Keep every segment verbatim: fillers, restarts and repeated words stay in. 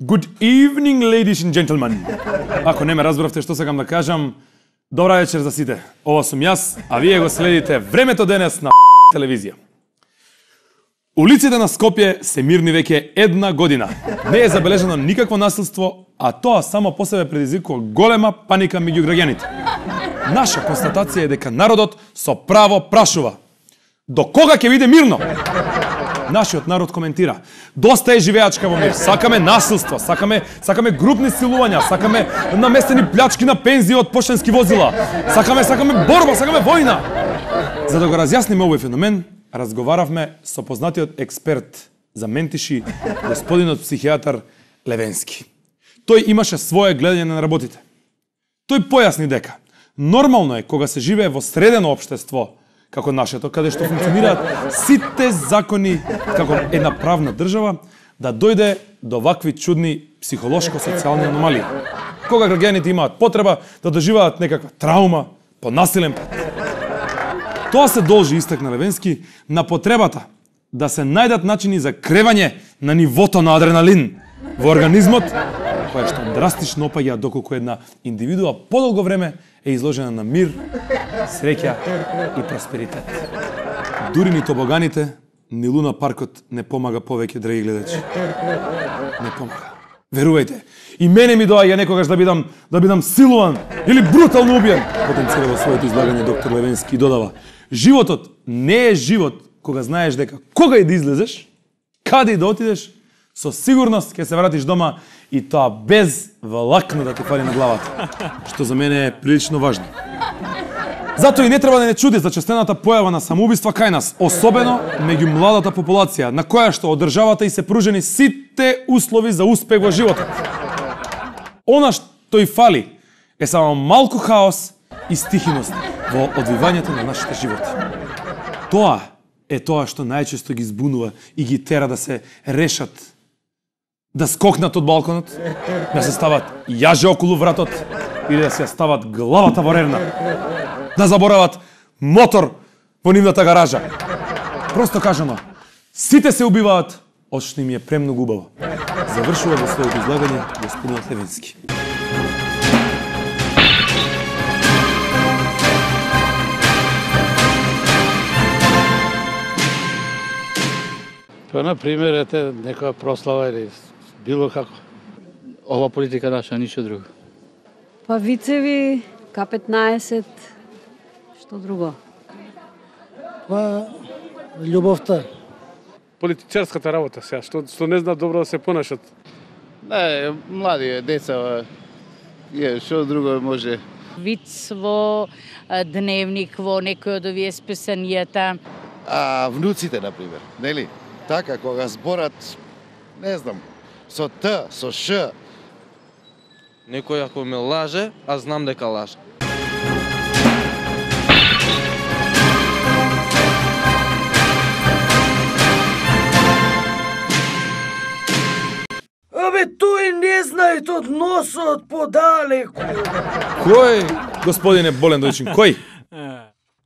Good evening, ladies and gentlemen. Ако не ме разбравте што сакам да кажам, добра вечер за сите. Ова сум јас, а вие го следите Времето денес на телевизија. Улиците на Скопје се мирни веќе една година. Не е забележано никакво насилство, а тоа само по себе предизвикува голема паника меѓу граѓаните. Наша констатација е дека народот со право прашува: до кога ќе биде мирно? Нашиот народ коментира: доста е живеачка во мир, сакаме насилство, сакаме сакаме групни силувања, сакаме наместени плячки на пензии од поштенски возила, сакаме сакаме борба, сакаме војна. За да го разјасниме овој феномен, разговаравме со познатиот експерт за ментиши, господинот психијатар Левенски. Тој имаше свое гледање на работите. Тој појасни дека нормално е кога се живее во средено општество како нашето, каде што функционираат сите закони како една правна држава, да дојде до вакви чудни психолошко-социјални аномалии. Кога граѓаните имаат потреба да доживеат некаква траума по насилен пат. Тоа се должи, истакна Левенски, на потребата да се најдат начини за кревање на нивото на адреналин во организмот, која што драстично опаѓа доколку една индивидуа подолго време е изложена на мир, среќа и просперитет. Дури ни тобоганите, ни луна паркот не помага повеќе, драги гледачи. Не помага. Верувајте, и мене ми доаѓа некогаш да бидам да бидам силуван или брутално убиен. Потенцира во своето излагање доктор Левенски додава: животот не е живот кога знаеш дека кога и да излезеш, каде и да отидеш, со сигурност ќе се вратиш дома и тоа без влакна да те фали на главата, што за мене е прилично важно. Затоа и не треба да не чуди за честената појава на самоубиства кај нас, особено меѓу младата популација, на која што од државата и се пружени сите услови за успех во животот. Она што и фали е само малку хаос и стихиност во одвивањето на нашите животи. Тоа е тоа што најчесто ги збунува и ги тера да се решат, да скокнат од балконот, да се стават јаже околу вратот или да се стават главата во рерна, да заборават мотор во нивната гаража. Просто кажано, сите се убиваат, од што им е премногу убаво. Завршува во своето излагање господинот Левенски. Па, например, ете, некоја прослава или било како. Ова политика наша, ништо друго. Па вицеви, К петнаесет, што друго? Па љубовта. Политичарската работа сега, што, што не знаат добро да се понашат. Не, млади деца, е, што друго може? Виц во дневник, во некој од овие списанијата. А внуците, например, нели? Така, кога зборат, не знам, со Т, со Ш. Некој ако ме лаже, а знам дека лаже. Абе, тој не знае од носот подалеку. Кој, господине Болен Дојчин, кој?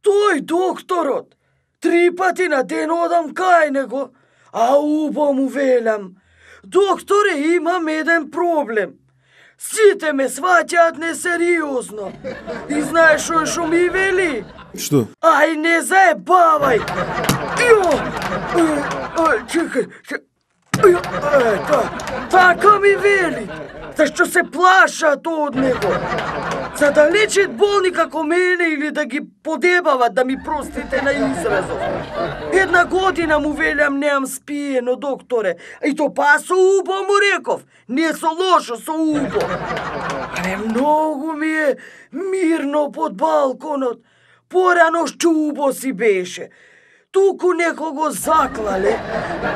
Тој докторот. Три пати на ден одам кај него, а убо му велам: докторе, имам еден проблем. Сите ме сваќаат несериозно. И знаеш што што ми вели? Што? Ај, не заебавај. Јо! Ај, чекај, чекај. Ето, така ми вели, зашто се плашат од него. За да лечат болни како мене или да ги подебават, да ми простите на изразот. Една година му велям неам спиено, докторе, и то па со убо му реков, не со лошо, со убо. Але многу ми е мирно под балконот, порано шчубо си беше. Туку некој го заклале,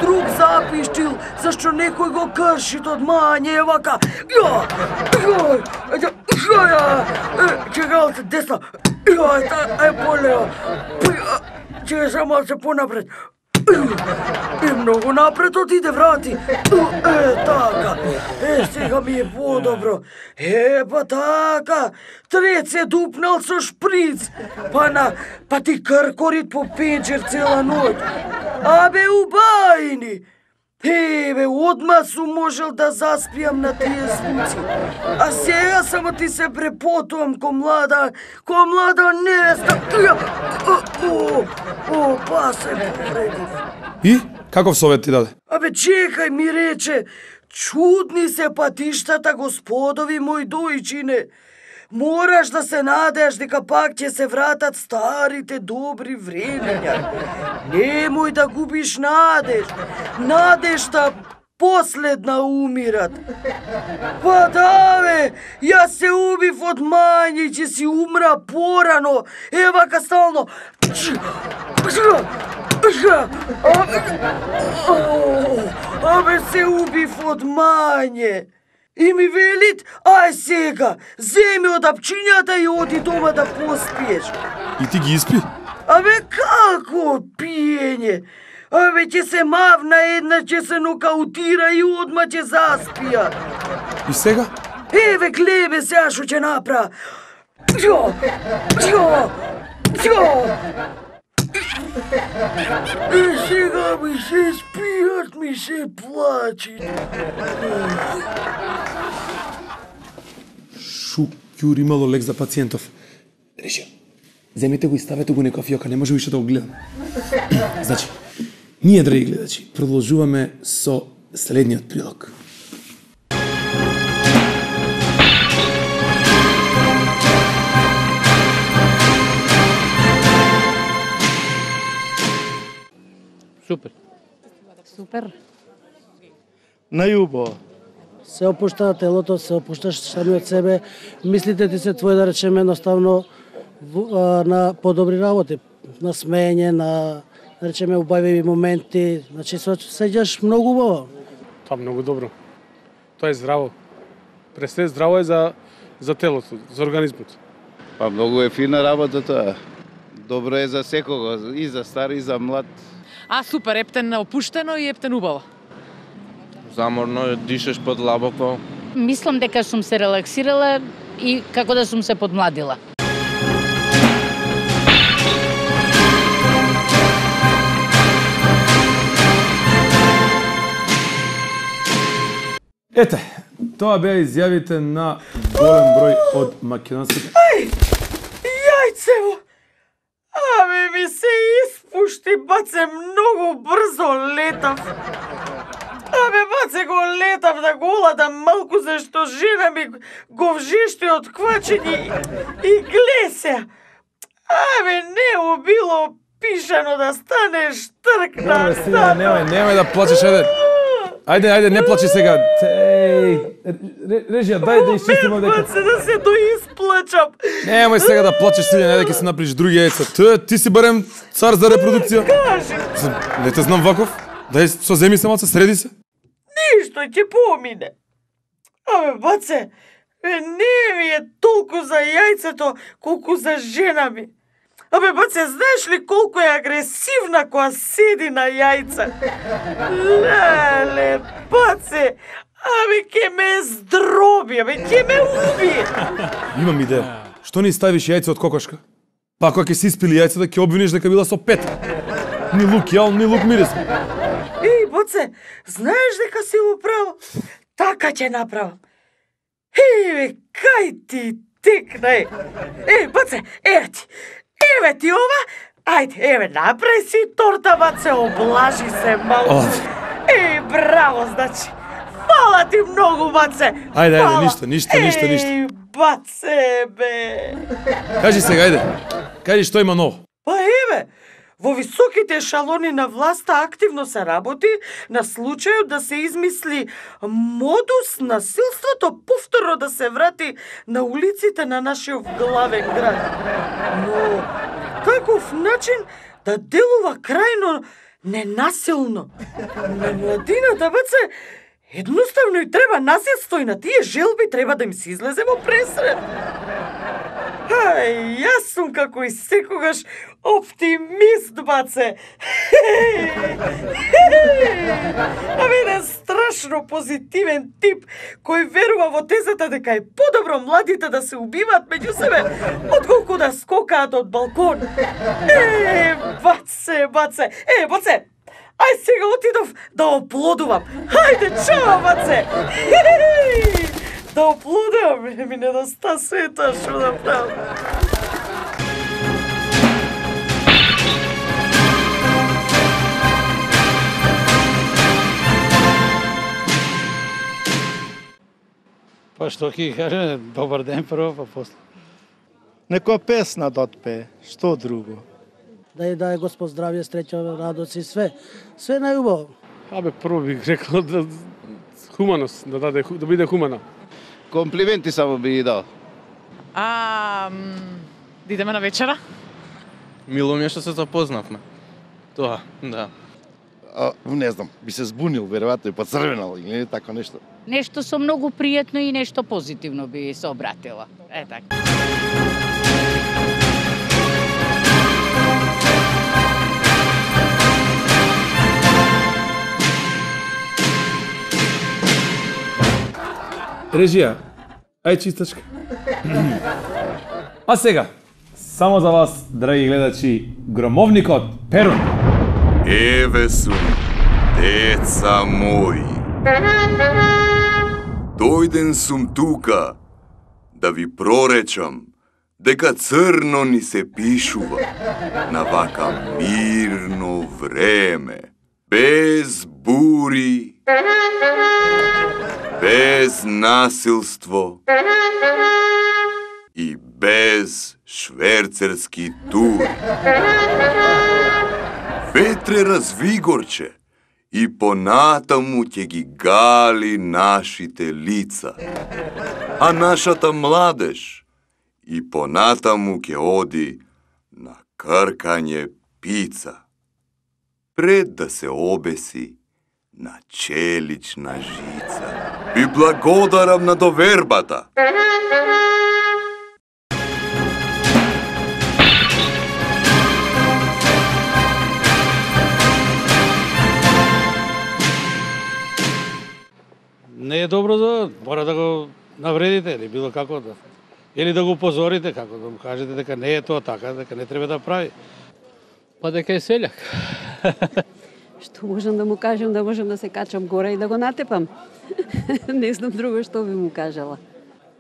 друг запиштил зашто некој го кршит од мање, вака. Ја! Ја! Ја! Чекалте, десно. Ја, е болео. Чекай само се понапред. И многу напред отиде, врати. Е, така. Е, сега ми е подобро. Е, па така. Трет се дупнал со шприц. Па на, па ти кркорит по пенџер цела ноќ. Абе, убајни. Еве, одма сум можел да заспијам на тие звуци. А сега само ти се препотувам ко млада, ко млада невеста. О, о, па се повредив. И? Каков совет ти даде? Абе, чекај, ми рече, чудни се патиштата, господови мој дојчине. Мораш да се надеаш дека пак ќе се вратат старите добри времења. Немој да губиш надеж. Надежта последна умират. Па да, бе, јас се убив од мање, ќе си умра порано. Ева ка стално. Абе, се убив од мање. И ми велит, ај сега, земи од апчињата и оди дома да поспиеш. И ти ги испи? Абе, како пиење? Абе, ќе се мавна една, ќе се нокаутира и одма ќе заспија. И сега? Еве, глебе сега шо ќе напра. Джо, джо, джо. И сега ми се спијат, ми се плачи. Шукјур, имало лек за пациентов. Реши, земете го и ставете го некоја фиока, не може више да го гледам. Значи, ние, драги гледачи, продолжуваме со следниот прилог. Супер. Супер. Најубаво. Се опушта телото, се опушташ самиот себе, мислите ти се твој, да речеме, едноставно на подобри работи, на смеење, на, да речеме, убави моменти, значи се осеќаш многу убаво. Тоа многу добро. Тоа е здраво. Пресне здраво е за за телото, за организмот. Па многу е фина работа тоа. Добро е за секого, и за стар и за млад. А, супер, ептен опуштено и ептен убаво. Заморно, дишеш подлабоко. Мислам дека сум се релаксирала и како да сум се подмладила. Ете, тоа беа изјавите на голем број од македонските... Ај, јајцево! Абе, ми се испушти, баце, многу брзо летав. Абе, баце, го летав на голата малку, зашто жена ми го вжишти од квачење и глесе. Абе, не било пишано да станеш тркна. Немој, стига, немој, немој да плачеш, ајде. Ајде, ајде, не плачи сега. Еј, режија, дај да исчистимо дека. Баце, да се доисплачам. Немој сега да плачеш, Силјан, ајде ќе се направиш други јајца. Ти, ти си барем цар за репродукција. Кажи. Не те знам ваков. Дај, со земи се малце, среди се. Ништо ќе помине. Абе, баце, не ми е толку за јајцето, колку за жена ми. Абе, баце, знаеш ли колку е агресивна која седи на јајца? Леле, баце, абе, ке ме здроби, абе, ке ме уби. Имам идеја. Што не ставиш јајце од кокошка? Па кога ќе си испили јајцата, ќе обвиниш дека била со пет. Ни лук јал, ни лук мирис. Еј, баце, знаеш дека си го право? Така ќе направам. Еве, кај ти текна е. Еј, баце, еве ти. Еве ти ова, ајде, еве, направи си торта, баце, облажи се малку. Еј, браво, значи. Фала ти многу, баце. Ајде, ајде, ништо, ништо, ништо, ништо. Еј, баце, бе. Кажи сега, ајде. Кажи што има ново. Па еве, во високите ешалони на власта активно се работи на случајот да се измисли модус насилството повторно да се врати на улиците на нашиот главен град. Но таков начин да делува крајно ненасилно. На младината, баце, едноставно и треба насилство и на тие желби треба да им се излезе во пресред. Ај, јас сум како и секогаш оптимист, баце. Абе, еден страшно позитивен тип кој верува во тезата дека е подобро младите да се убиваат меѓу себе отколку да скокаат од балкон. Е, баце, баце, е, баце, Ај сега отидов да оплодувам. Хајде, чао, маце. Да оплодувам, ми недоста света, што да правам. Па што ќе каже, добар ден прво, па после. Некоја песна да отпее, што друго? Да ја даде Господ здравје, среќа, радост и све. Све најубаво. Абе, прво бих рекол да хуманост, да даде да биде хумана. Комплименти само би ги дал. А, да идеме на вечера? Мило ми е што се запознавме. Тоа, да. А, не знам, би се збунил, веројатно и поцрвенал или тако нешто. Нешто со многу пријатно и нешто позитивно би се обратила. Е така. Режија, ај чистачка. А сега, само за вас, драги гледачи, громовникот Перун. Еве сум, деца мои. Дојден сум тука да ви проречам дека црно ни се пишува на вака мирно време, без бури, без насилство и без шверцерски тури. Ветре развигорче и понатаму ќе ги гали нашите лица, а нашата младеж и понатаму ќе оди на кркање пица, пред да се обеси на челична жица. Ви благодарам на довербата. Не е добро да мора да го навредите или било како да. Или да го упозорите, како да му кажете дека не е тоа така, дека не треба да прави. Па дека е селјак. Што можам да му кажам, да можам да се качам горе и да го натепам. Не знам друго што би му кажала.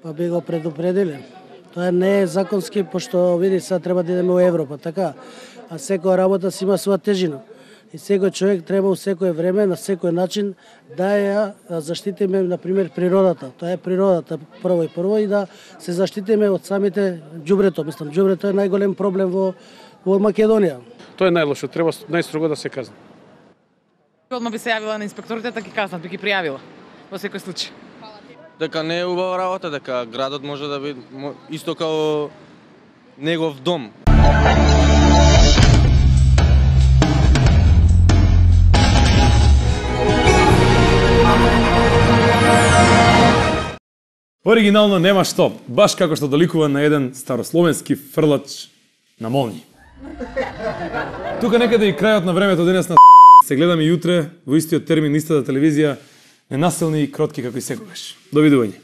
Па би го предупредиле. Тоа не е законски, пошто види сега треба да идеме во Европа, така. А секоја работа си има своја тежина. И секој човек треба у секое време, на секој начин да ја заштитиме, например, природата. Тоа е природата прво и прво и да се заштитиме од самите ѓубрето. Мислам, ѓубрето е најголем проблем во, во Македонија. Тоа е најлошо, треба најстрого да се казни. Одма би се јавила на инспекторите, така ги казнат, би ги пријавила. Во секој случај. Дека не е убава работа, дека градот може да биде исто као негов дом. Оригинално нема што, баш како што доликува на еден старословенски фрлач на молњи. Тука некаде и крајот на времето денес на се гледаме и утре во истиот термин, истата телевизија, ненасилни и кротки како и секогаш. Довидување.